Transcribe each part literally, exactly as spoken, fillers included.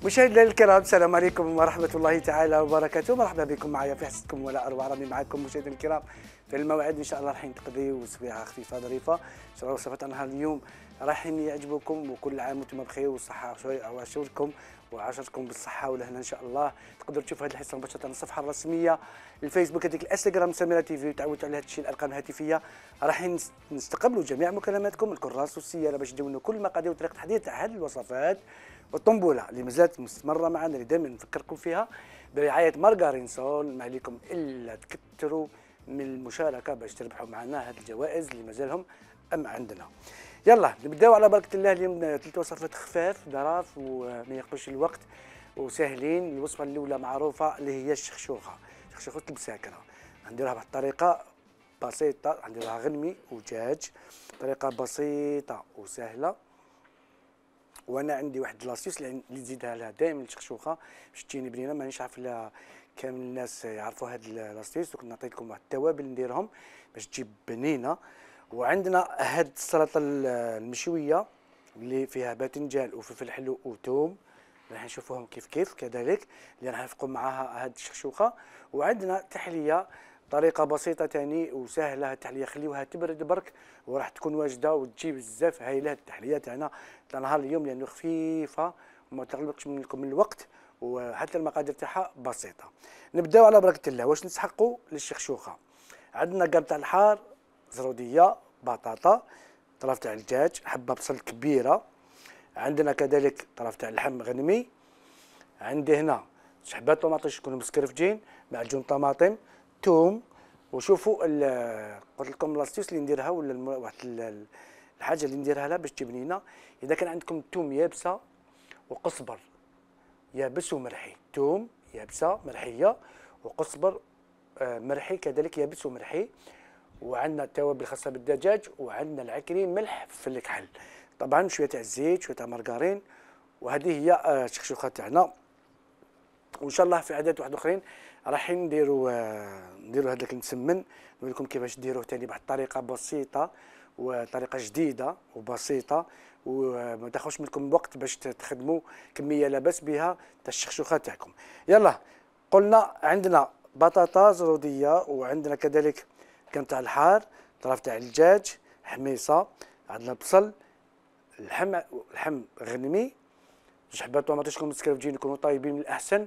مشاهدينا الكرام، السلام عليكم ورحمة الله تعالى وبركاته. مرحبا بكم معايا في حصتكم ولا أروع. راني معكم مشاهدينا الكرام في الموعد إن شاء الله راح تقضيو سبيعة خفيفة ظريفة. إن شاء الله وصفات نهار اليوم راح يعجبكم، وكل عام وانتم بخير والصحة وعشركم وعشركم بالصحة والهنا إن شاء الله. تقدروا تشوفوا هذه الحصة مباشرة على الصفحة الرسمية الفيسبوك، هذيك الانستغرام سميرة تي في، وتعودوا على هذا الشيء الأرقام الهاتفية. راح نستقبلوا جميع مكالماتكم، الكراس والسيارة باش تدونوا كل مقادير وطريقة تحضير تاع هذه الوصفات. والطنبوله اللي مازالت مستمره معنا، اللي دائما نفكركم فيها برعايه مارغارين سول. ما عليكم الا تكثروا من المشاركه باش تربحوا معنا هذه الجوائز اللي مازالهم ام عندنا. يلا نبداو على بركه الله. اليوم ثلاث وصفات خفاف ظراف وما ياخذوش الوقت وسهلين. الوصفه الاولى معروفه اللي هي الشخشوخه، شخشوخه المساكره. نديرها بواحد الطريقه بسيطه، نديرها غنمي ودجاج، طريقه بسيطه وسهله. وانا عندي واحد لاصيص اللي نزيدها لها دائما الشخشوخه باش تجيني بنينه. مانيش عارف لا كامل الناس يعرفوا هاد لاصيص، وكنت نعطيكم واحد التوابل نديرهم باش تجيب بنينه. وعندنا هاد السلطه المشويه اللي فيها باذنجان وفلفل حلو وثوم، راح نشوفوهم كيف كيف كذلك اللي راح نفقوا معاها هاد الشخشوخه. وعندنا تحليه طريقه بسيطه ثاني وسهله. التحليه خليوها تبرد برك وراح تكون واجده وتجي بزاف هايله التحليه تاعنا تاع نهار اليوم، لانه خفيفه وما تغلبكش منكم الوقت، وحتى المقادير تاعها بسيطه. نبداو على بركه الله. واش نسحقوا للشخشوخه؟ عندنا قرن تاع الحار، زروديه، بطاطا، طرف تاع الدجاج، حبه بصل كبيره، عندنا كذلك طرف تاع اللحم غنمي، عندي هنا شحبات طوماطيش يكونوا مسكرفجين، معجون طماطم، ثوم. وشوفوا قلت لكم لاستيس اللي نديرها ولا واحد الحاجه اللي نديرها لها باش تجي بنينه. اذا كان عندكم ثوم يابسه وقزبر يابس ومرحي، ثوم يابسه مرحيه وقزبر مرحي كذلك يابس ومرحي. وعندنا التوابل الخاصه بالدجاج، وعندنا العكري، ملح، فلفل كحل، طبعا شويه تاع الزيت، شويه تاع مارغرين. وهذه هي الشخشوخه تاعنا. وان شاء الله في عادات واحد اخرين راح نديروا نديروا هذاك المسمن، نقول لكم كيفاش ديروه ثاني بواحد الطريقه بسيطه وطريقه جديده وبسيطه، وما تاخذش منكم وقت باش تخدموا كميه لا باس بها تاع الشخشوخه تاعكم. يلا قلنا عندنا بطاطا زروديه، وعندنا كذلك كم تاع الحار، طرف تاع الدجاج، حميصه، عندنا بصل، اللحم لحم غنمي، جوج حبات طوماطيش يكونوا مسكرفجين يكونوا طايبين من الاحسن.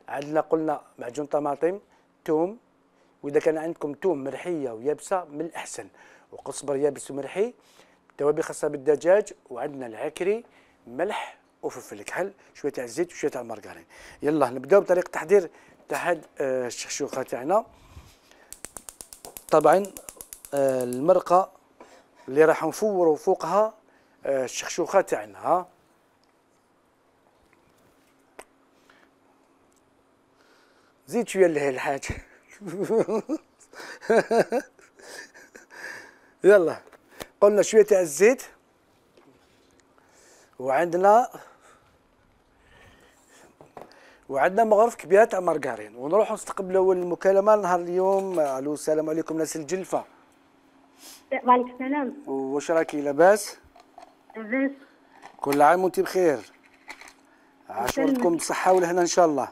عندنا قلنا معجون طماطم، ثوم، واذا كان عندكم ثوم مرحيه ويابسه من الاحسن، وقزبر يابس ومرحي، توابل خاصه بالدجاج، وعندنا العكري، ملح وفلفل كحل، شويه تاع الزيت وشويه تاع المارغرين. يلا نبداو بطريقه تحضير تاع هاد الشخشوخه تاعنا. طبعا المرقه اللي راح نفوروا فوقها الشخشوخه تاعنا. زيد شويه لهي الحاجه. يلا قلنا شويه تاع الزيت، وعندنا وعندنا مغرف كبيره تاع مارغرين. ونروحوا نستقبلوا المكالمه نهار اليوم. الو السلام عليكم ناس الجلفه. وعليكم السلام. واش راكي لاباس؟ لاباس. كل عام وانت بخير، عاشوركم بالصحه والهنا ان شاء الله.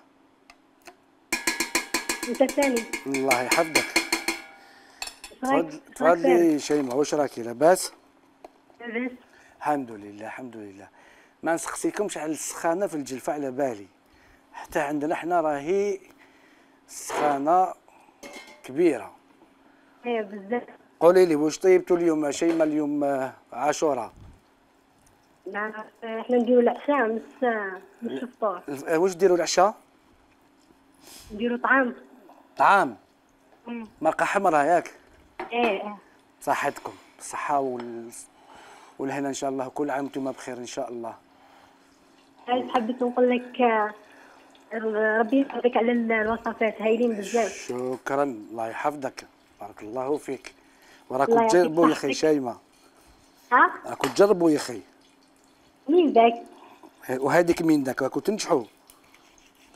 انت ثاني. الله يحفظك. تفضل تفضلي شيماء، واش راكي لاباس؟ لاباس الحمد لله الحمد لله. ما نسقسيكمش على السخانه في الجلفه، على بالي حتى عندنا حنا راهي السخانه كبيره. ايه بزاف. قولي لي واش طيبتوا اليوم شيماء؟ اليوم عاشوراء. لا احنا نديروا العشاء مش مش الفطور. واش ديروا العشاء؟ نديروا طعام. طعام؟ امم مرقه حمراء ياك؟ ايه ايه. صحتكم بالصحه وال... والهنا ان شاء الله. كل عام وانتم بخير ان شاء الله. حبيت نقول لك ربي يحفظك على الوصفات هايلين بزاف. شكرا الله يحفظك، بارك الله فيك. وراكم تجربوا يا اخي شيماء. ها؟ راكم تجربوا يا اخي. مين ذاك؟ وهذيك مين ذاك؟ راكم تنجحوا.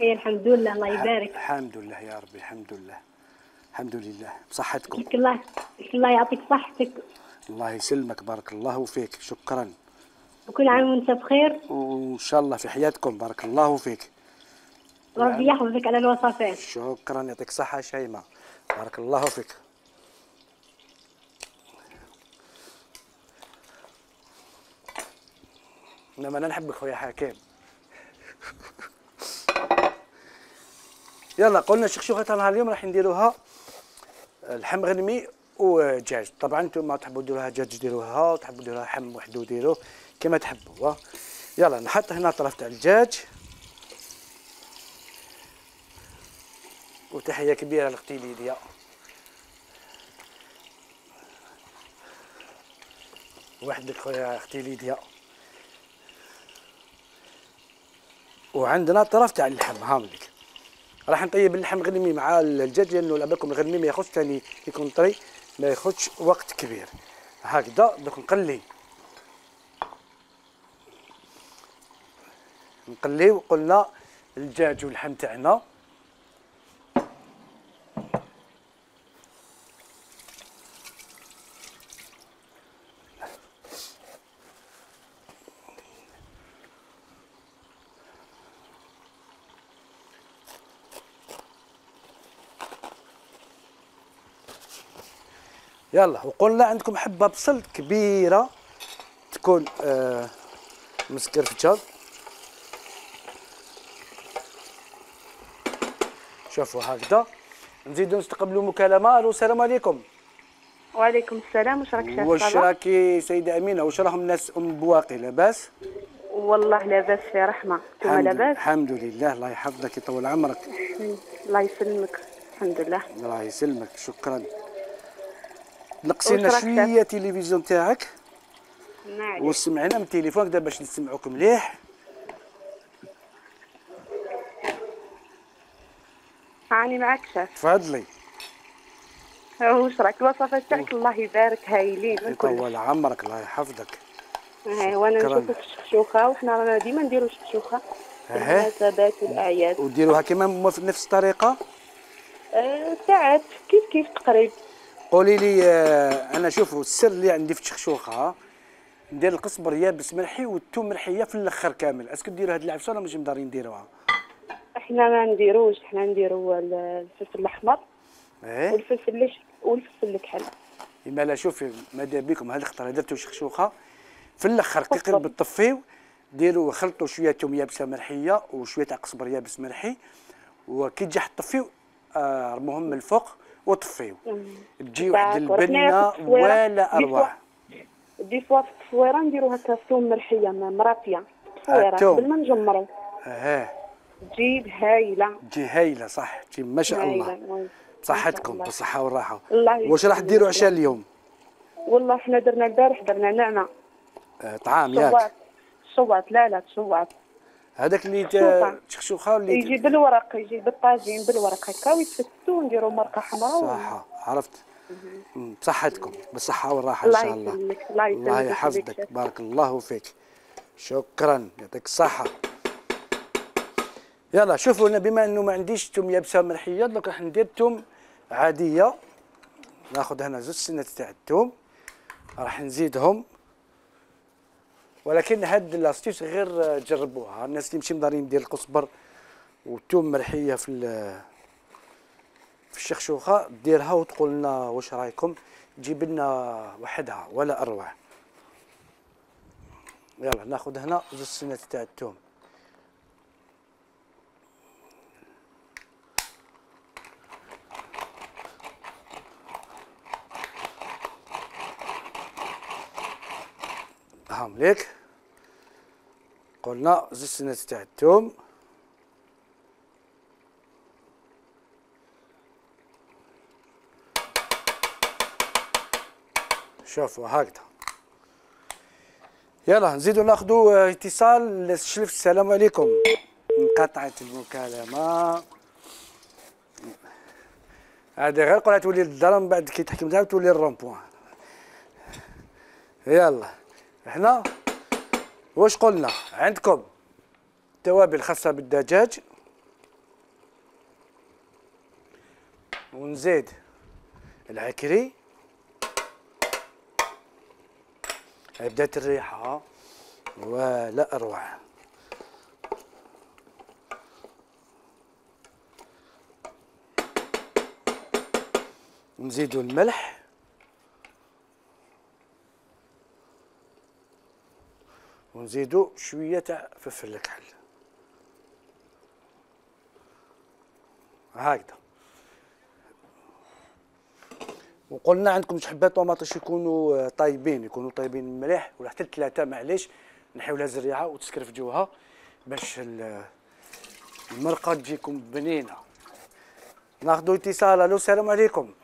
ايه الحمد لله الله يبارك. الحمد لله يا ربي الحمد لله الحمد لله بصحتكم. الله الله يعطيك صحتك. الله يسلمك بارك الله فيك. شكرا. وكل عام وانت بخير. وان شاء الله في حياتكم، بارك الله فيك. ربي يحفظك على الوصفات. شكرا، يعطيك الصحة شيماء، بارك الله فيك. انما انا نحبك خويا حكيم. يلا قلنا الشخشوخه تاعنا اليوم راح نديروها لحم غنمي ودجاج. طبعا انتم تحبوا ديروها دجاج ديروها، وتحبوا ديروها حم وحده ديروه كما تحبوا. يلا نحط هنا طرف تاع الدجاج. وتحيه كبيره لاختي ليديا. وحدك خويا اختي ليديا. وعندنا طرف تاع اللحم هاملك. راح نطيب اللحم غنمي مع الدجاج لانه على بالكم الغنمي ما ياخذش ثاني يكون طري، ما ياخذش وقت كبير. هكذا دوك نقلي نقليو قلنا الدجاج واللحم تاعنا. يلا وقلنا عندكم حبه بصل كبيره تكون آه مسكرفجه. شوفوا هكذا. نزيدوا نستقبلوا مكالمه. الو السلام عليكم. وعليكم السلام. واش راك شايفه؟ واش راكي سيده امينه؟ واش راهم الناس ام بواقي لاباس؟ والله لاباس في رحمه. انتم لاباس؟ الحمد لله، الله يحفظك يطول عمرك. الله يسلمك. الحمد لله. الله يسلمك. شكرا. نقصي لنا شويه التلفزيون تاعك وسمعنا من التليفون كدا باش نسمعوك مليح. هاني معك شاف. تفضلي. واش راك الوصفات تاعك الله يبارك هايلين. يطول عمرك الله يحفظك. اي وانا نشوفك في الشخشوخه، وحنا رانا ديما نديرو الشخشوخه في المناسبات والاعياد. وديروها كيما في نفس الطريقه؟ أه ساعات كيف كيف تقريبا. قولي لي. آه انا شوفوا السر اللي عندي في الشخشوخه ندير القزبر يابس ملحي والثوم ملحيه في الاخر كامل. اسكو ديروا هاد العفسه ولا ماشي مدارين نديروها؟ احنا ما نديروش، احنا نديرو الفلفل الاحمر ايه والفلفل الش... والفلفل الكحل. اما لا شوفي ماذا بكم هاد الخطره درتو شخشوخه في الاخر كي قرب تطفيو ديروا خلطوا شويه ثوم يابسه ملحيه وشويه تاع قزبر يابس ملحي، وكي تجي تطفيو آه رموهم من الفوق وطفيو. تجي واحد البنه ولا اروع. دي فوا في التصويره نديرو هكا ثوم ملحيه مرافيه تصويره قبل ما نجمرو. اه تجي هايله. تجي هايله صح. تجي ما شاء الله. بصحتكم بالصحه والراحه. واش راح ديروا عشاء اليوم؟ والله احنا درنا البارح درنا نعناع. آه طعام ياك؟ شواط. لا لا شواط. هذاك اللي تشخشوخه اللي يجي بالورق، يجي بالطاجين بالورق هكا ويتفتو ونديرو مرقه حمراء. صح عرفت. بصحتكم بالصحه والراحه ان شاء الله. الله يسلمك. الله يحفظك. بارك الله فيك. شكرا يعطيك الصحه. يلا شوفوا انا بما انه ما عنديش ثوم يابسه ملحيه دوك راح ندير ثوم عاديه. ناخذ هنا زوج سنات تاع الثوم راح نزيدهم، ولكن هاد لاستيش غير جربوها الناس اللي ماشي مدارين ندير القزبر والثوم ملحيه في في الشخشوخه ديرها وتقول لنا واش رايكم. تجيب لنا وحدها ولا اروع. يلا ناخذ هنا زوج سنات تاع الثوم. هامليك قلنا زوج سنات تاع الثوم. شوفوا هكذا. يلا نزيدو ناخذوا اتصال. الشلف السلام عليكم. انقطعت المكالمه. هذه غير قولها تولي للدار من بعد كي تحكي معاها تولي الرومبوان. يلا هنا واش قلنا عندكم توابل خاصه بالدجاج ونزيد العكري. بدات الريحه ولا اروع. نزيدوا الملح ونزيدوا شويه تاع فلفل الكحل هكذا. وقلنا عندكم حبات طوماطيش يكونوا طايبين، يكونوا طايبين مليح، ولا حتى ثلاثه معليش، نحيولها زريعه وتسكرفجوها باش المرقه تجيكم بنينه. ناخذوا اتصال. الو السلام عليكم.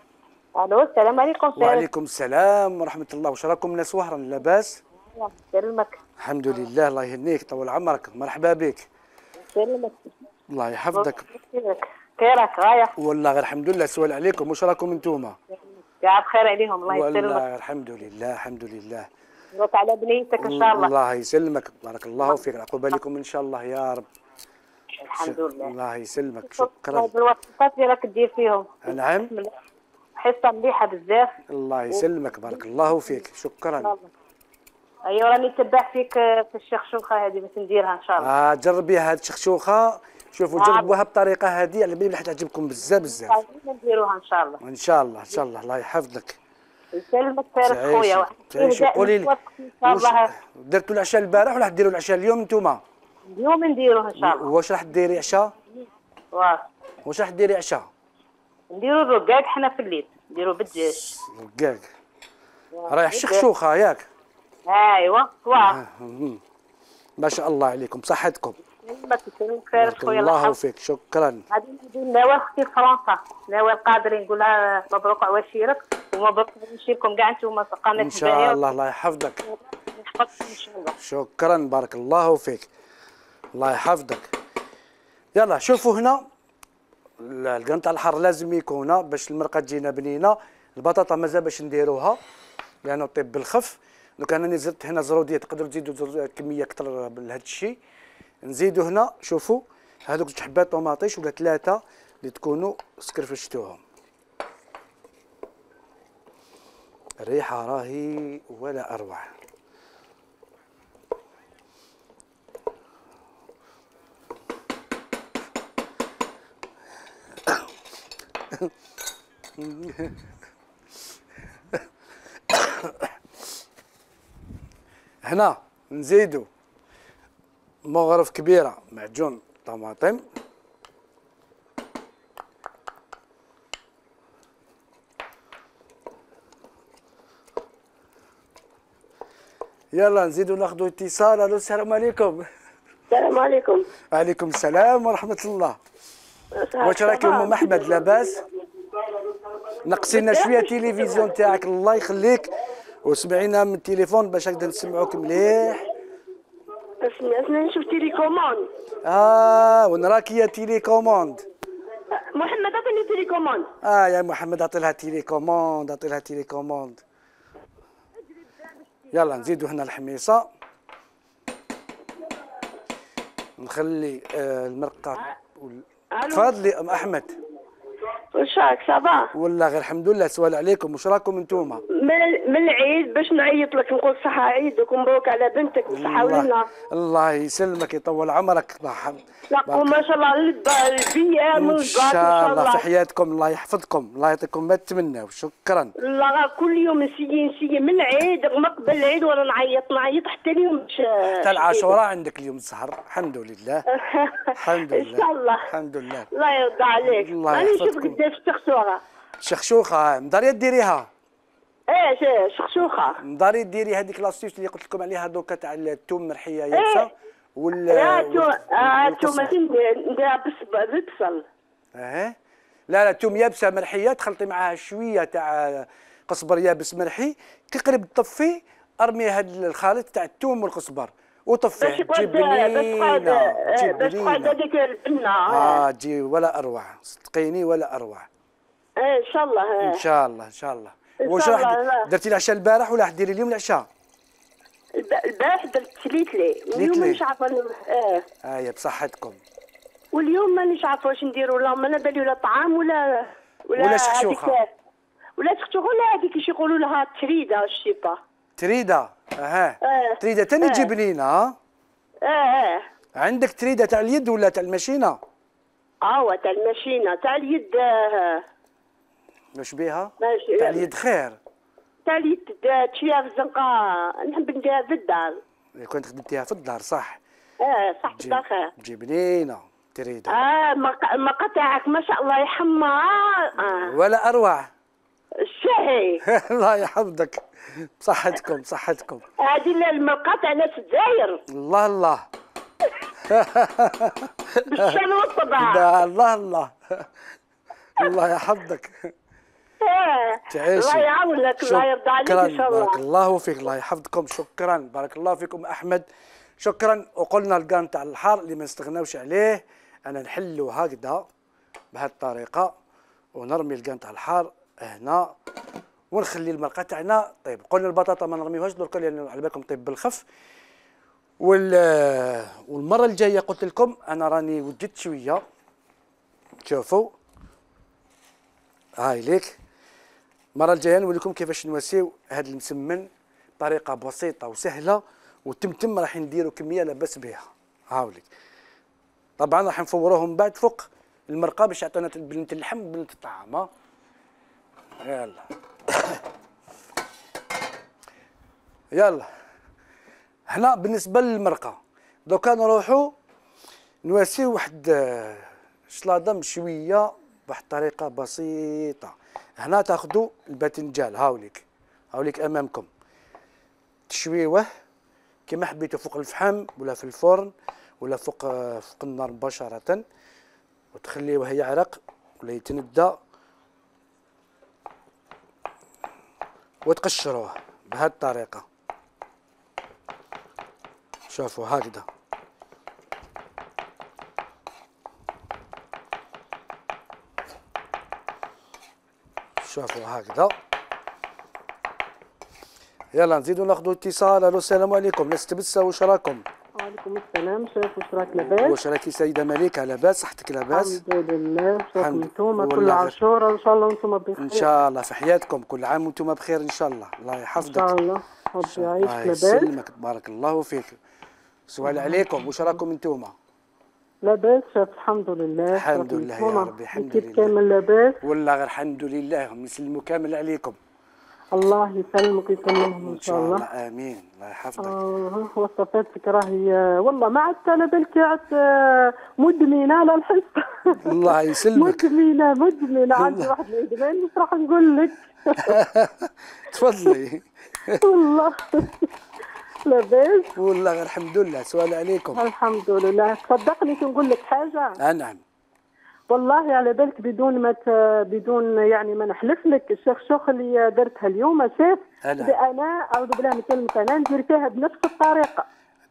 الو السلام عليكم. وعليكم السلام ورحمه الله. واش راكم ناس وهرا لاباس؟ يسلمك. الحمد لله الله يهنيك طول عمرك. مرحبا بك. يسلمك. الله يحفظك. خيرك غايه. والله غير الحمد لله. سؤال عليكم، واش راكم انتوما؟ يا بخير عليهم الله يسلمك. والله الحمد لله الحمد لله. مبروك على بنيتك ان شاء الله. الله يسلمك بارك الله فيك. عقبه لكم ان شاء الله يا رب. الحمد لله. الله يسلمك. شكرا. الوصفات اللي راك دير فيهم. نعم. حصه مليحه بزاف. الله يسلمك بارك الله فيك. شكرا. ايوا راني نتبع فيك في الشخشوخه هذه باش نديرها ان شاء الله. اه جربيها هذه الشخشوخه. شوفوا جربوها بطريقه هذه على بالي راح تعجبكم بزاف بزاف. نديروها ان شاء الله. ان شاء الله ان شاء الله. الله يحفظك. يسلمك خير خويا. تعيشي. قولي لي درتوا العشاء البارح ولا راح ديروا العشاء اليوم انتوما؟ اليوم نديروه ان شاء الله. واش راح ديري عشاء؟ واه واش راح ديري عشاء؟ نديروا الرقاق حنا في الليل، نديروا بالدجاج. رقاق رايح شخشوخه ياك؟ ايوا واه. ما شاء الله عليكم بصحتكم. يسلمك خير خويا. الله فيك. شكرا. غادي ندير نوال اختي في فرنسا، نوال قادرين نقول لها مبروك عواشيرك ومبروك عواشيركم كاع انتم قناه ان شاء الله. الله يحفظك. يحفظك ان شاء الله. شكرا بارك الله فيك. الله يحفظك. يلا شوفوا هنا القنطع الحار لازم يكون باش المرقه تجينا بنينه. البطاطا مازال باش نديروها لانه طيب بالخف. دوك انا زدت هنا زروديه، تقدروا تزيدوا كميه اكثر لهذا الشيء. نزيدوا هنا شوفوا هذوك جوج حبات طوماطيش ولا ثلاثه اللي تكونوا سكرفشتوهم. الريحه راهي ولا اروع. هنا نزيدوا مغرف كبيره معجون طماطم. يلا نزيدوا ناخذوا اتصال. الو السلام عليكم. السلام عليكم. وعليكم السلام ورحمه الله. واش راكي ام احمد لاباس؟ نقصينا شويه التلفزيون تاعك الله يخليك وسمعينا من التليفون باش نقدر نسمعوك مليح. انا نشوف تيليكوموند. اه ونراكي يا تيليكوموند. محمد عطيني تيليكوموند. اه يا محمد عطي لها تيليكوموند عطي لها تيليكوموند. يلا نزيدوا هنا الحميصه. نخلي آه المرقه. تفضلي ام احمد. واش راك صافا؟ والله غير الحمد لله. سؤال عليكم، واش راكم انتوما؟ من من العيد باش نعيط لك نقول صحة عيدك ومبروك على بنتك وصحة ولنا. الله يسلمك يطول عمرك. لا ما شاء الله البيام ان شاء الله في حياتكم. الله يحفظكم الله يعطيكم ما تتمناو. شكرا. لا كل يوم نسيي نسيي من العيد ما قبل العيد وانا نعيط نعيط حتى اليوم. حتى العاشوراء عندك اليوم السهر. الحمد لله. الحمد لله. ان شاء الله. الحمد لله. الله يرضى عليك. الله راني يحفظكم. نشوف قداش الشخشوخه. شخشوخه مداريه ديريها. ايه شخشوخه مداري ديري هذيك لاستيس اللي قلت لكم عليها دوكا تاع الثوم مرحيه يابسه. إيه. ولا لا الثوم نديرها بالبصل. اه لا لا الثوم يابسه مرحيه تخلطي معاها شويه تاع قزبر يابس مرحي. كي قريب تطفي ارمي هذا الخليط تاع الثوم والقزبر وطفيه. تجي بنينه. باش تقعد هذيك البنه. اه تجي ولا اروع. صدقيني ولا اروع. ايه ان شاء الله. ان شاء الله ان شاء الله. واش راح درتي العشاء البارح ولا راح ديري اليوم العشاء؟ البارح درت تليتلي واليوم مانيش عارفه. اه اه بصحتكم. واليوم مانيش عارفه واش نديروا. لا ما بالي ولا طعام ولا ولا, ولا شخشوخه ولا شخشوخه ولا هذيك اش يقولوا لها تريده الشيبه. تريده. اها اه تريده تاني آه. تجيب لينا ها؟ اه اه عندك تريده تاع اليد ولا تاع الماشينه؟ اه تاع الماشينه تاع اليد. آه. واش بيها؟ ماشي تاع اليد خير. تاع اليد تشيها في الزنقه، نحب نديرها في الدار. كنت خدمتيها في الدار صح؟ اه صح تجيب الدار خير. تجيب لينا تريده. اه مق- مقاطعك ما شاء الله يحمر. اه ولا اروع. الشهي. الله يحفظك بصحتكم بصحتكم. هذه المقاطع ناس الجزائر الله الله. بالشان والطبع. ده الله الله. الله يحفظك. اه تعيشي. الله يعاونك، الله يرضى عليك ان شاء الله. بارك الله فيك، الله يحفظكم. شكرا بارك الله فيكم احمد. شكرا. وقلنا الكان تاع الحار اللي ما نستغناوش عليه، انا نحلو هكذا بهذه الطريقه ونرمي الكان تاع الحار هنا ونخلي المرقه تاعنا طيب. قلنا البطاطا ما نرميوهاش دركا لان على بالكم طيب بالخف. وال والمره الجايه قلت لكم انا راني وجدت شويه. شوفوا هاي ليك. المره الجايه نوريكم كيفاش نواسيو هذا المسمن بطريقه بسيطه وسهله، وتمتم راح نديروا كميه لا باس بها. هاوليك طبعا راح نفوروهم بعد فوق المرقه باش يعطينا بنت اللحم وبنت الطعام. ها يلا يلا. هنا بالنسبه للمرقه دوكا نروحوا نواسيو واحد شلاضه مشويه بواحد الطريقه بسيطه. هنا تاخذوا الباذنجان هاوليك هاوليك امامكم، تشويوه كما حبيتوا فوق الفحم ولا في الفرن ولا فوق فوق النار مباشره، وتخليوه يعرق ولا يتندى وتقشروه بهذه الطريقه. شوفوا هكذا شوفوا هكذا. يلا نزيدوا ناخذوا اتصال. الو السلام عليكم ناس تبسه، واش راكم؟ وعليكم السلام شيخ، واش راك لاباس؟ واش راكي سيده مليكه لاباس؟ صحتك لاباس؟ الحمد لله. واش راكم انتوما والله كل غير. عاشوره ان شاء الله وانتم بخير ان شاء الله في حياتكم كل عام وانتم بخير ان شاء الله. الله ان يحفظك. شاء الله. ربي يعيشك الله لاباس. يسلمك بارك الله فيك. سؤال عليكم، واش راكم انتوما؟ لاباس شيخ الحمد لله. الحمد لله يا ربي الحمد كيف لله. كامل لاباس؟ والله غير الحمد لله، هم يسلموا كامل عليكم الله يسلمك ويسلمهم ان ان شاء الله. امين. الله يحفظك. اه وصفاتك راهي والله ما عدت على بالك عدت آه، مدمنه على الحس. الله يسلمك. مدمنه مدمنه عندي واحد الادمان مش راح نقول لك. تفضلي. والله لاباس. والله غير الحمد لله. سؤال عليكم. الحمد لله. تصدقني كنقول لك حاجه. آه نعم. والله على بالك بدون ما ت- بدون يعني ما نحلف لك الشيخ شوخ اللي درتها اليوم شاف أنا. انا اعوذ بالله من كلمه انا ندير فيها بنفس الطريقه.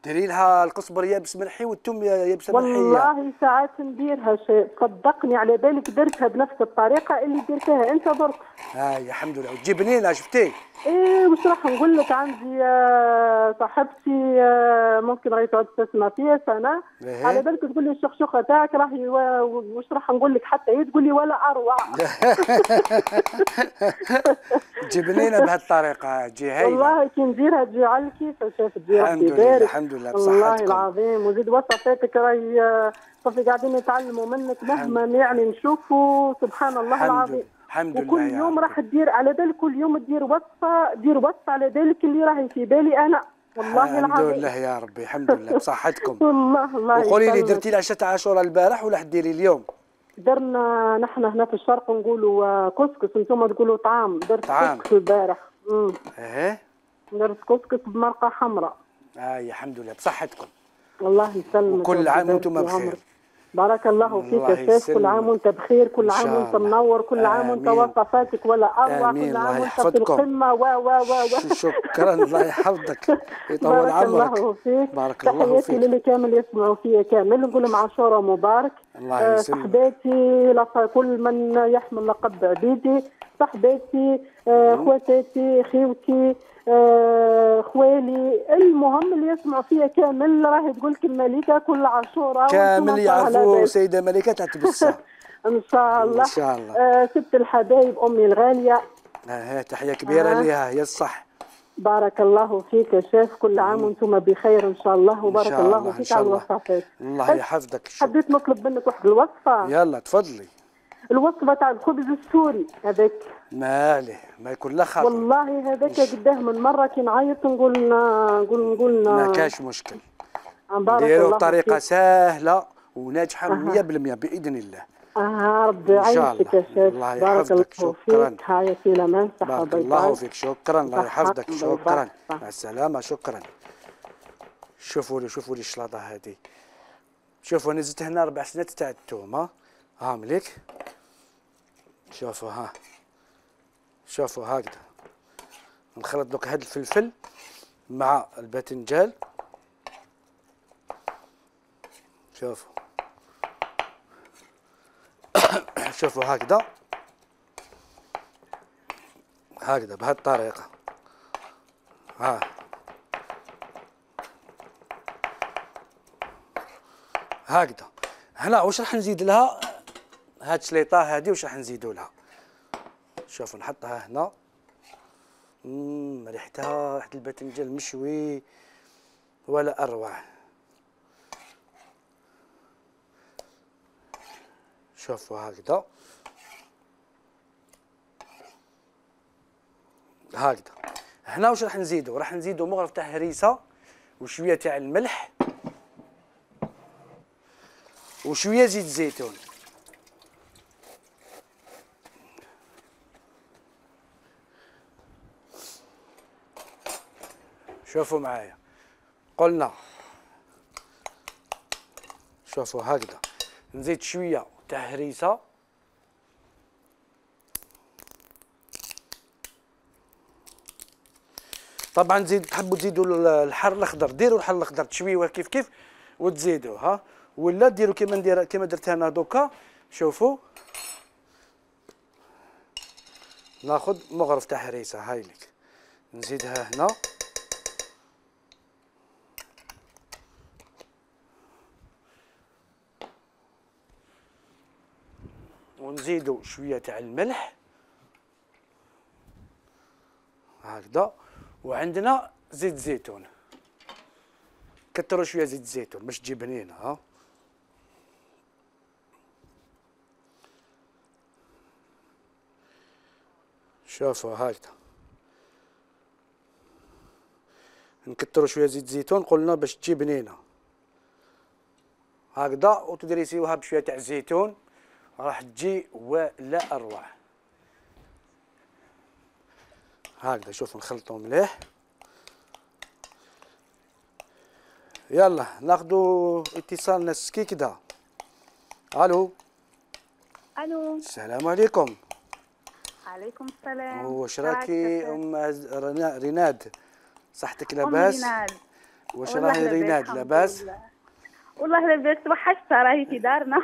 ديري لها القزبر يابس ملحي والثوم يابس ملحي. والله ساعات نديرها شيء صدقني على بالك درتها بنفس الطريقه اللي درتها انت درت. هاي الحمد لله. وتجيب بنينه شفتي؟ ايه وش راح نقول لك عندي آه، صاحبتي آه، ممكن راهي تعود تسمع فيها سنه إيه. على بالك تقول لي الشخشوخه تاعك راهي و- وش راح نقول لك حتى هي تقول لي ولا اروع. تجيب بنينه بهالطريقه تجي هايله. والله كي نديرها تجي على الكيف شاف تجي الحمد ربي لله يبارك. الحمد لله بصحتكم. والله العظيم وزيد وصفاتك راهي آه، صافي قاعدين نتعلموا منك مهما يعني نشوفوا سبحان الله الحمد العظيم. لله. الحمد لله وكل يا يوم رب. راح تدير على بالك كل يوم تدير وصفه دير وصفه على بالك اللي راهي في بالي انا والله الحمد العظيم. لله يا ربي الحمد لله بصحتكم. والله الله وقولي لي يسلمك. درتي العشاء تاع عاشوراء البارح ولا حديري اليوم؟ درنا نحن هنا في الشرق نقولوا آه، كسكس، انتم تقولوا طعام. درت طعام. كسكس البارح. امم ايه درت كسكس بمرقه حمراء. هاي الحمد لله بصحتكم. الله يسلمك. وكل عام ويبارك وانتم في بخير. عمرك. بارك الله فيك الله يا شيخ. كل يسلمك. عام وانت بخير، كل إن عام شاء وانت الله. منور، كل عام وانت آمين. وصفاتك ولا اروع، آمين. كل الله عام وانت في يحفظكم. القمه و و و و شكرا الله يحفظك يطول بارك عمرك. الله فيك. بارك الله تحياتي فيك. للي كامل يسمعوا فيا كامل نقول لهم عاشوراء مبارك. الله آه، يسلمك. صحباتي لق- كل من يحمل لقب عبيدي، صحباتي آه، خواتاتي خيوتي آه، خوالي، المهم اللي يسمعوا فيا كامل راهي تقول لك الملكه كل عاشوراء كامل وانتم على يعرفوا بالك. سيدة ملكة تاع تبسة. ان شاء الله. إن شاء الله. آه ست الحبايب امي الغاليه. آه تحية كبيرة آه. ليها هي الصح. بارك الله فيك يا شيف، كل عام وانتم بخير ان شاء الله، وبارك الله, الله فيك على الوصفات. الله يحفظك. حبيت نطلب منك واحد الوصفه. يلا تفضلي. الوصفه تاع الخبز السوري هذاك. ما عليه ما يكون لا خاطر. والله هذاك قداه من مره كي نعيط نقول نقول نقول ما كاش مشكل. نديرو بطريقه سهله وناجحه مية بالمية باذن الله. اه ربي يعيشك يا شيخ. الله يحفظك. شكرا. هاي في الامان. صحه بارك الله فيك. شكرا. الله يحفظك. شكرا. مع السلامه. شكرا. شوفوا لي شوفوا لي الشلاضه هذه. شوفوا انا زدت هنا ربع سنات تاع الثوم. ها ها مليك. شوفوا ها شوفوا هكذا نخلط دوك هاد الفلفل مع الباذنجان. شوفوا شوفوا هكذا هكذا بهذه الطريقه. ها هكذا. هنا واش راح نزيد لها؟ هاد الشليطه هذه واش راح نزيدوا لها؟ شوفوا نحطها هنا. امم ريحتها ريحه الباذنجان المشوي ولا اروع. شوفوا هكذا هكذا. هنا واش راح نزيدوا؟ راح نزيدوا مغرف تاع هريسه وشويه تاع الملح وشويه زيت زيتون. شوفوا معايا قلنا شوفوا هكذا نزيد شويه تاع هريسه طبعا زيد تحبوا تزيدوا الحر الاخضر ديروا الحر الاخضر تشويوه كيف كيف وتزيدوه ها ولا ديروا كيما ندير كيما درت انا دوكا. شوفوا ناخذ مغرف تاع هريسه هاي لك نزيدها هنا ونزيدوا شويه تاع الملح هكذا وعندنا زيت زيتون كثروا شويه زيت الزيتون باش تجي بنينه ها. شوفوا هكذا نكثروا شويه زيت الزيتون قلنا باش تجي بنينه هكذا وتدريسيوها بشويه تاع الزيتون راح تجي ولا اروع. هكذا شوفوا نخلطوا مليح. يلا ناخذوا اتصال نسكي كده. الو الو السلام عليكم. عليكم السلام. واش راكي ام ريناد؟ صحتك لاباس؟ ام ريناد. واش راهي ريناد لاباس؟ والله لاباس توحشتها راهي في دارنا.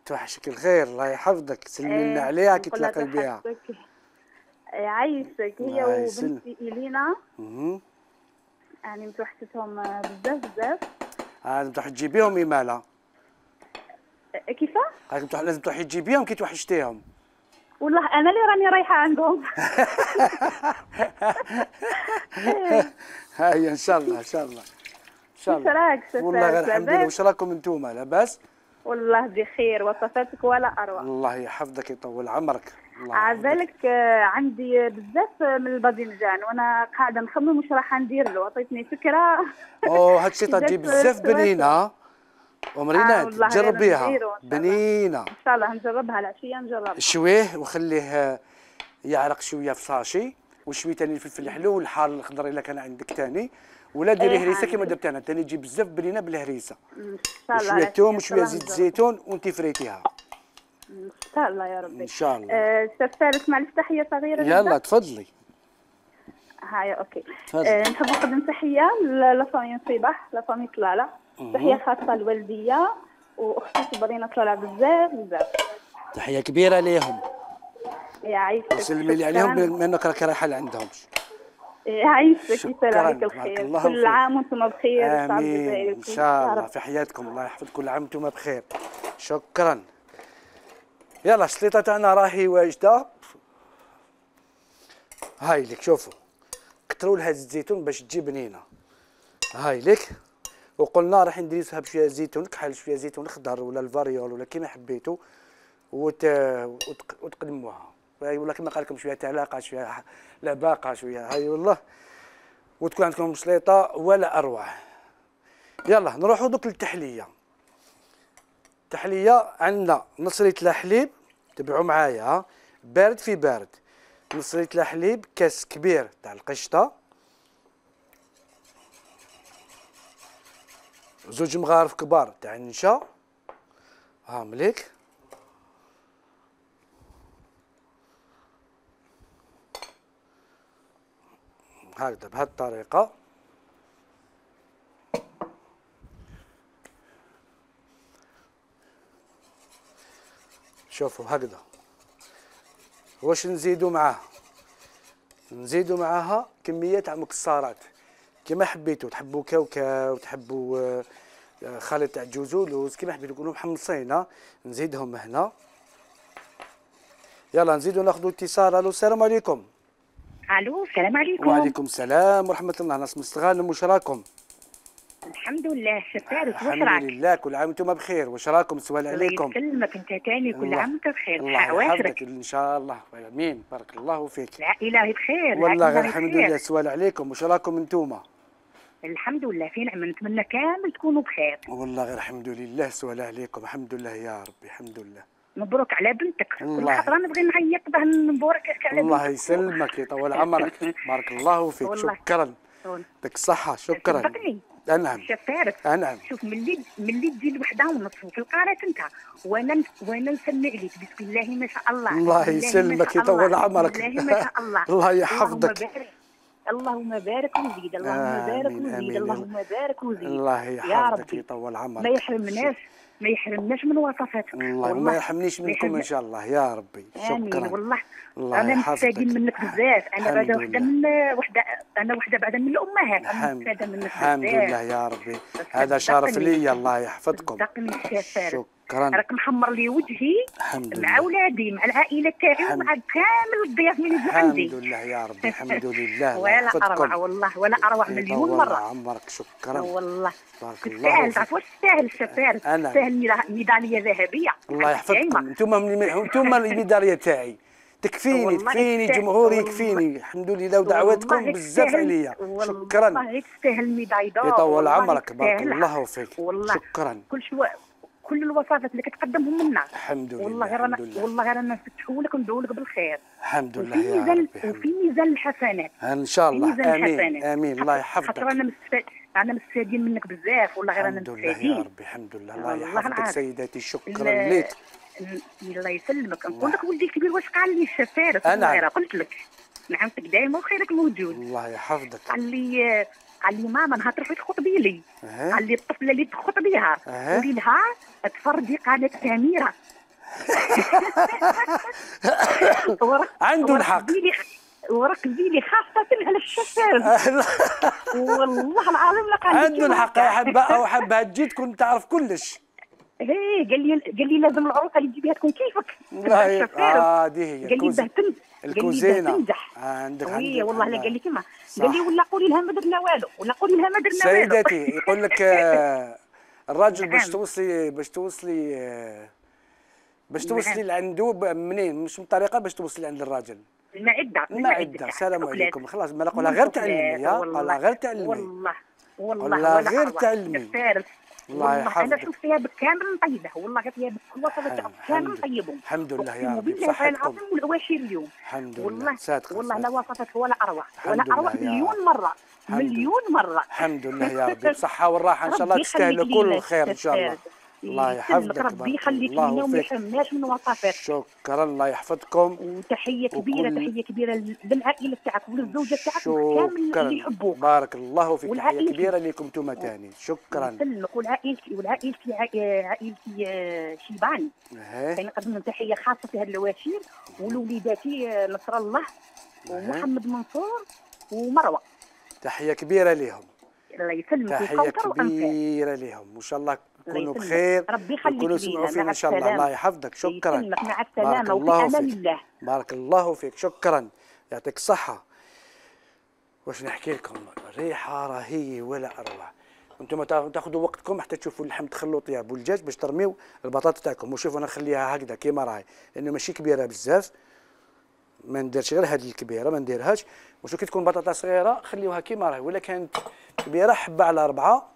توحشك الخير الله يحفظك سلمي لنا عليها كي تلاقي بها. يعيشك هي وبنتي إلينا. اها يعني متوحشتهم بزاف بزاف. لازم تروحي تجيبيهم إيمالا. كيفاه؟ لازم تروحي تجيبيهم كي توحشتيهم. والله أنا اللي راني رايحة عندهم. هاي إن شاء الله إن شاء الله. إن شاء الله. واش راك والله غير الحمد لله. واش راكم انتوما لاباس؟ والله بخير وصفاتك ولا أروع. الله يحفظك يطول عمرك. عبالك عندي بزاف من الباذنجان وانا قاعده نخمم واش راح ندير له. عطيتني فكره. اوه هادشي تجي بزاف بنينه ام ريناد جربيها بنينه. ان شاء الله نجربها العشيه نجربها. شويه وخليه يعرق شويه في صاشي وشويه ثاني الفلفل الحلو والحار الاخضر الا كان عندك ثاني ولا ديري ايه هريسه كما درت انا ثاني تجي بزاف بنينه بالهريسه. ان شاء الله. وشويه ثوم وشويه زيت الزيتون وانت فريتيها. ان شاء الله يا ربي. ان شاء الله. أه سفارة معلش تحيه صغيره. يلا تفضلي. هاي اوكي. أه نحب نقدم تحيه لفامي صباح لفامي طلاله. تحيه خاصه لوالديا واختي صبرينا طلاله بزاف بزاف. تحيه كبيره ليهم. يعيشك. وسلمي لي عليهم بما انك راك رايحه لعندهم. يعيشك يسهل عليك الخير. كل عام وانتم بخير. امين ان شاء الله في حياتكم الله يحفظ كل عام وانتم بخير. شكرا. يلا الشليطه تاعنا راهي واجده. هاي لك شوفوا نكتروا لها الزيتون باش تجي بنينه. هاي لك، وقلنا راح نديروها بشويه زيتون كحل، شويه زيتون خضر ولا الفاريول ولا كيما حبيتوا، وت... وتق... وتقدموها. هاي والله كما قال لكم شويه علاقه شويه لباقه شويه، هاي والله، وتكون عندكم سليطه ولا اروع. يلا نروحوا دوك للتحليه. التحليه عندنا نص لتر حليب، تبعوا معايا بارد في بارد، نص لتر حليب، كاس كبير تاع القشطه، زوج مغارف كبار تاع النشا، ها مليك، هكذا بهذه الطريقه. شوفوا هكذا. واش نزيدوا معاه؟ نزيدوا معاها كميه تاع مكسرات كما حبيتوا، تحبوا كاوكاو، تحبوا خليط تاع جوز ولوز، كما حبيتوا يكونوا محمصين، نزيدهم هنا. يلا نزيدوا ناخذوا اتصال. الو السلام عليكم. الو السلام عليكم. وعليكم السلام ورحمه الله. ناس مستغانم، واش راكم؟ الحمد لله شفارك، واش الحمد راك؟ لله كل عام وانتم بخير، واش راكم؟ سؤال عليكم. الله يسلمك انت تاني، كل عام وانت بخير. الله يحفظك ان شاء الله. امين، بارك الله فيك. العائله بخير والله غير الحمد لله. سؤال عليكم، واش راكم انتم؟ الحمد لله في نعمه، نتمنى كامل تكونوا بخير. والله غير الحمد لله. سؤال عليكم، الحمد لله يا ربي، الحمد لله. مبروك على بنتك. الله. كل خطره نبغي نعيط باه نبارك على الله بنتك. يسلمك يطول عمرك. بارك الله فيك. والله. شكرا، يعطيك الصحة. شكرا. صدقني نعم شفارك. نعم. شوف ملي ملي تجي الوحده ونص في القاره انت وانا وانا نسمع لك بسم الله ما شاء الله. الله بسم الله يسلمك ما شاء يطول الله. عمرك. بسم الله ما شاء الله. الله يحفظك. اللهم بارك، اللهم بارك وزيد، اللهم بارك آمين، وزيد، آمين. اللهم بارك وزيد. الله يا يحفظك ربي يطول عمرك. ما يحرمناش ما يحرمناش من وصفاتك. الله ما يحرمنيش منكم ان شاء الله يا ربي. امين شكرا. والله. الله انا يحفظك. مستفادين منك بزاف. انا بعدا وحده من وحده انا وحده بعدا من الامهات، انا مستفاده منك بزاف. الحمد لله يا ربي، هذا شرف لي. الله يحفظكم. صدقني الشفار. شكرا. راك محمر لي وجهي الحمد مع لله. اولادي مع العائله تاعي ومع كامل الضياف اللي يجوا عندي. الحمد لله يا ربي، الحمد لله. الله ولا يحفظكم. اروع والله، ولا اروع مليون يطول مره. عمرك. شكرا والله بارك الله تستاهل. فيك. تعرف واش تستاهل الشفار؟ أنا. تستاهل ميداليه ذهبيه. الله يحفظكم. انتم انتم الميداليه تاعي، تكفيني والله تكفيني يستاهل. جمهوري والله. يكفيني. الحمد لله ودعواتكم والله بزاف تستاهل. عليا. شكرا. والله تستاهل ميداي دور. يطول والله عمرك. بارك تستاهلها. الله فيك. والله شكرا. كل شو كل الوصفات اللي كتقدمهم لنا الحمد لله. والله غير الحمد انا لله. والله غير انا نفتحوا لك وندعوا لك بالخير. الحمد وفي لله يا ميزان ربي. الحمد وفي ميزان الحسنات. ان شاء في الله. ميزان امين الحسنات. امين. الله خاطر يحفظك. انا مستفاد انا مستفادين منك بزاف والله غير انا الحمد لله يا مستفادين. ربي. الحمد لله. الله والله يحفظك العظيم. سيداتي. شكرا ال- ليك. الله يسلمك. نقول لك ولدي الكبير واش قال لي الشفاره أنا. الصغيره؟ قلت لك نعمتك دائما وخيرك موجود. الله يحفظك. قال لي قال لي ماما نهار تروحي تخطبي لي. أه. قال لي الطفله اللي تخطبيها أه. قولي لها تفرجي قناه سميره. ورق- عنده ورق الحق. زيلي ورق زيلي خاصه على الشفار. والله العظيم لقى عنده الحق يا حبه، او حبها تجي تكون تعرف كلش. ايه قال لي قال لي لازم العروسه اللي تجيبيها تكون كيفك. والله الشفار. اه دي هي قال لي الكوزي- باه تنجح. قال لي باه الكوزينه. تنجح. عندك وي عندك والله لا الله. قال لي كما صح. قال لي ولا قولي لها ما درنا والو، ولا قولي لها ما درنا والو. سيداتي يقول لك آه، الراجل باش نعم. توصلي باش توصلي آه، باش توصلي نعم. لعنده ب- منين؟ مش من طريقه باش توصلي عند الراجل. المعده المعده. السلام عليكم. خلاص ما قولها غير تعلمي يا قولها غير تعلمي. والله والله قولها ولا غير أروع. تعلمي. الفارس. الله والله يحفظك. انا شوف فيها بالكامل نطيبه، والله غير فيها بكل وصفه كامل نطيبهم. الحمد لله يا أقسم ربي بالله بصحتكم. العظيم والعواشر اليوم. الحمد لله. والله صادقة والله لا صادقة. وصفت ولا اروع الحمد ولا لله اروع يا مليون رب. مره الحمد مليون مره. الحمد لله يا ربي بالصحه والراحه ان شاء الله. ربي تستاهلوا يخليك كل لينا الخير ان شاء الله. الشفار. الله يسلمك يحفظك. ربي بارك يخليك الله لينا وما فيك. يحرمناش من وصفات. شكرا. الله يحفظكم. وتحيه كبيره وكل- تحيه كبيره للعائله تاعك وللزوجه تاعك وكامل شكرا. اللي يحبوك. بارك الله فيك. تحيه والعائلة. كبيره لكم انتم تاني. شكرا. يسلمك. والعائلتي والعائلتي عائ- عائلتي آه، شيبان. إيه. كنقدم لهم تحيه خاصه في هذه الواشير ولوليداتي آه، نصر الله ومحمد منصور ومروه. تحيه كبيره لهم. الله يسلمك. تحيه وكوثر وأنفاس. كبيره لهم وان شاء الله الله يكونوا يسلمك. بخير. ربي يخليك يكونوا لينا. يسمعوا فينا مع ان شاء الله. السلامة. الله يحفظك. شكرا. يسلمك. مع بارك السلامه وفي الله امان فيك. الله. بارك الله فيك. شكرا. يعطيك الصحه. واش نحكي لكم، الريحه راهي ولا اروع. انتم تاخذوا وقتكم حتى تشوفوا اللحم تخلوا طياب والدجاج باش ترميو البطاطا تاعكم. وشوفوا انا نخليها هكذا كيما راهي لانه ماشي كبيره بزاف، ما نديرش غير هذه الكبيره ما نديرهاش. وشوف كي تكون بطاطا صغيره خليوها كيما راهي، ولا كانت كبيره حبه على اربعه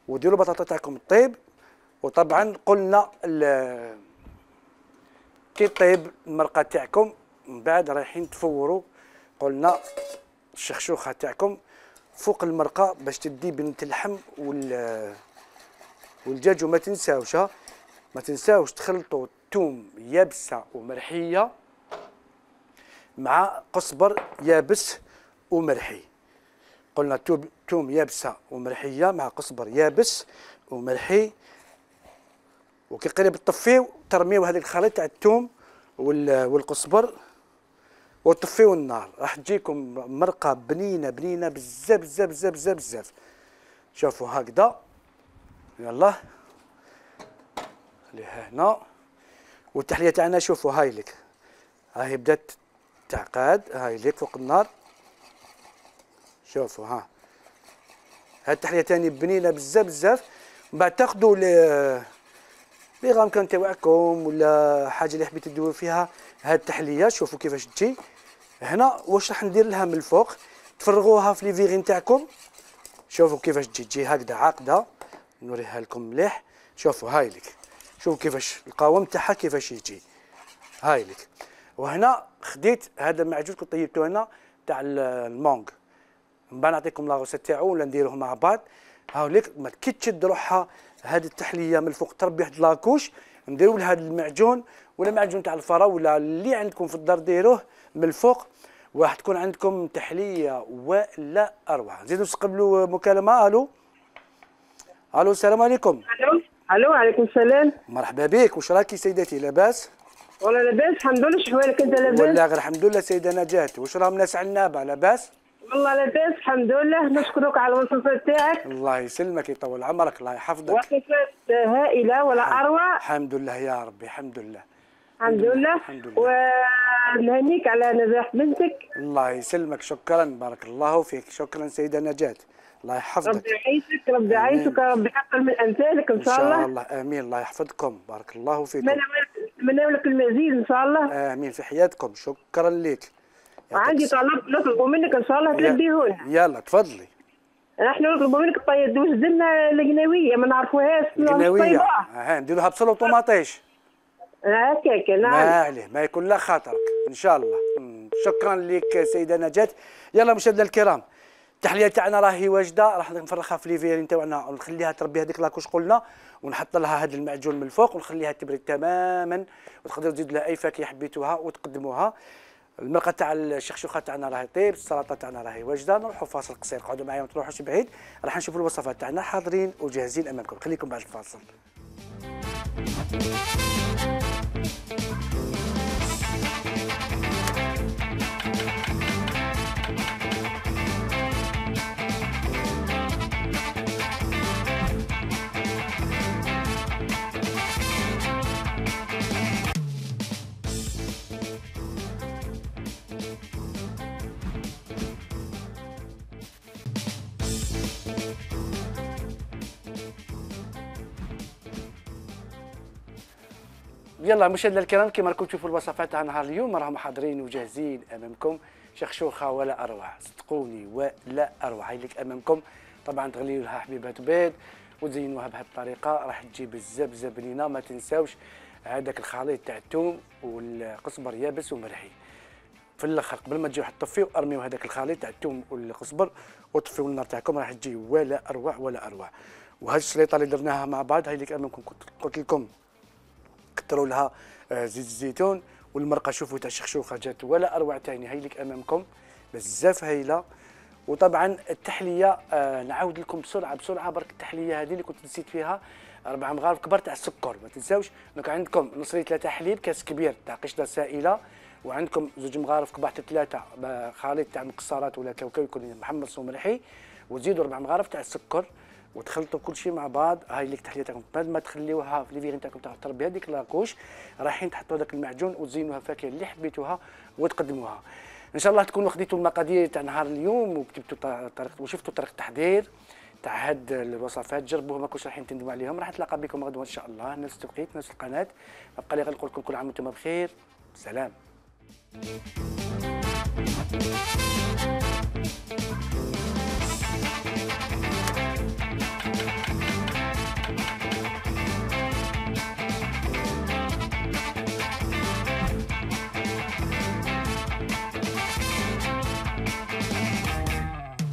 وديروا البطاطا تاعكم طيب. وطبعا قلنا كي طيب المرقه تاعكم من بعد رايحين تفوروا، قلنا الشخشوخه تاعكم فوق المرقه باش تدي بنة اللحم وال والدجاج. وما تنساوش ما تنساوش تخلطوا الثوم يابسه ومرحيه مع قزبر يابس ومرحي. قلنا ثوم يابسه ومرحيه مع قزبر يابس ومرحي. وكي قريب تطفيو ترميو هذاك الخليط تاع الثوم والقزبر وطفيو النار، راح تجيكم مرقه بنينه بنينه بزاف بزاف بزاف بزاف بزاف. شوفوا هكذا، يلا خليها هنا. والتحليه تاعنا شوفوا هاي لك، هاي بدات تعقاد، هاي لك فوق النار. شوفوا ها هاد التحليه تاني بنينه بزاف بزاف. من بعد تاخذوا لي غامكان تاعكم ولا حاجه اللي حبيتوا تديروا فيها هاد التحليه. شوفوا كيفاش تجي هنا. واش راح ندير لها من الفوق تفرغوها في لي فيغين تاعكم. شوفوا كيفاش تجي تجي هكذا عاقده، نوريها لكم مليح. شوفوا هاي لك، شوفوا كيفاش القوام تاعها كيفاش يجي، هاي لك. وهنا خديت هذا المعجون كنت طيبته هنا تاع المونغ، من بعد نعطيكم لاغوسيت تاعو ولا نديروه مع بعض. هاو لك كي تشد روحها هذه التحليه من الفوق تربي واحد لاكوش، نديروا لهذا المعجون ولا معجون تاع الفرا ولا اللي عندكم في الدار ديروه من الفوق، وراح تكون عندكم تحليه ولا اروع. نزيدوا نستقبلوا مكالمه. الو الو السلام عليكم. الو الو عليكم السلام. مرحبا بك، واش راكي سيدتي لاباس؟ والله لاباس الحمد لله. شحوالك انت لاباس؟ والله غير الحمد لله سيده نجاة. واش راهم ناس عنابه لاباس؟ والله لاباس الحمد لله. نشكرك على الوصفات تاعك. الله يسلمك يطول عمرك الله يحفظك. وصفات هائله ولا اروع. الحمد لله يا ربي الحمد لله الحمد لله. الحمد لله. ونهنيك على نجاح بنتك. الله يسلمك، شكرا بارك الله فيك. شكرا سيده نجاة، الله يحفظك. ربي يعيشك ربي يعيشك ربي يحقق من امثالك ان شاء الله. ان شاء الله امين. الله يحفظكم بارك الله فيكم. نتمنى لك المزيد ان شاء الله. امين في حياتكم. شكرا لك. وعندي طلب نطلب منك ان شاء الله تلبيه لنا. يلا تفضلي. نحن نطلب منك طيب وجد لنا القناويه ما نعرفوهاش. القناويه ها نديروها بصل وطوماطيش هكاك. نعم ما عليه ما يكون لا خاطرك ان شاء الله. شكرا لك سيده نجاة. يلا مشاهدينا الكرام التحليه تاعنا راهي واجده، راح نفرخها في لي فيرين تاعنا ونخليها تربي هذيك لاكوش قلنا، ونحط لها هذا المعجون من الفوق ونخليها تبرد تماما. وتقدروا تزيدوا لها اي فاكهه حبيتوها وتقدموها. المرقه تاع الشخشوخه تاعنا راهي طيب، السلطه تاعنا راهي واجده. نروحوا فاصل قصير، قعدوا معايا ما تروحوش بعيد، راح نشوفوا الوصفات تاعنا حاضرين وجاهزين امامكم. خليكم بعد الفاصل. يلا مشاهدينا الكرام كما راكم تشوفوا الوصفات تاع نهار اليوم راهم حاضرين وجاهزين امامكم. شخشوخه ولا اروع، صدقوني ولا اروع. هاي لك امامكم. طبعا تغليوا لها حبيبات بيض وتزينوها بهذه الطريقه، راح تجي بزاف بزاف بنينه. ما تنساوش هذاك الخليط تاع الثوم والقزبر يابس ومرحي. في الاخر قبل ما تجيو تطفيو ارميو هذاك الخليط تاع الثوم والقزبر وطفيو النار تاعكم، راح تجي ولا اروع ولا اروع. وهذه السليطه اللي درناها مع بعض هاي لك امامكم. قلت لكم كثروا لها زيت الزيتون والمرقه. شوفوا تاع الشخشوخه جات ولا اروع ثاني. هاي لك امامكم بزاف هايله. وطبعا التحليه آه نعاود لكم بسرعه بسرعه برك. التحليه هذه اللي كنت نسيت فيها اربع مغارف كبار تاع السكر. ما تنساوش انك عندكم نص ثلاثه حليب، كاس كبير تاع قشطه سائله، وعندكم زوج مغارف كبار تاع ثلاثه خليط تاع مكسرات ولا كاوكاو يكون محمص ومرحي، وتزيدوا اربع مغارف تاع السكر وتخلطوا كل شيء مع بعض. هاي لك التحليه تاعكم. بعد ما تخليوها في لي فيغين تاعكم تاع تربي هذيك لاكوش، رايحين تحطوا هذاك المعجون وتزينوها فاكهه اللي حبيتوها وتقدموها. ان شاء الله تكونوا خديتوا المقادير تاع نهار اليوم وكتبتوا طريقه وشفتوا طريقه التحضير تاع هاد الوصفات، جربوها ما كنتش رايحين تندموا عليهم. راح نتلاقى بكم غدوه ان شاء الله نفس التوقيت نفس القناه. بقى لي غير نقول لكم كل عام وانتم بخير. سلام.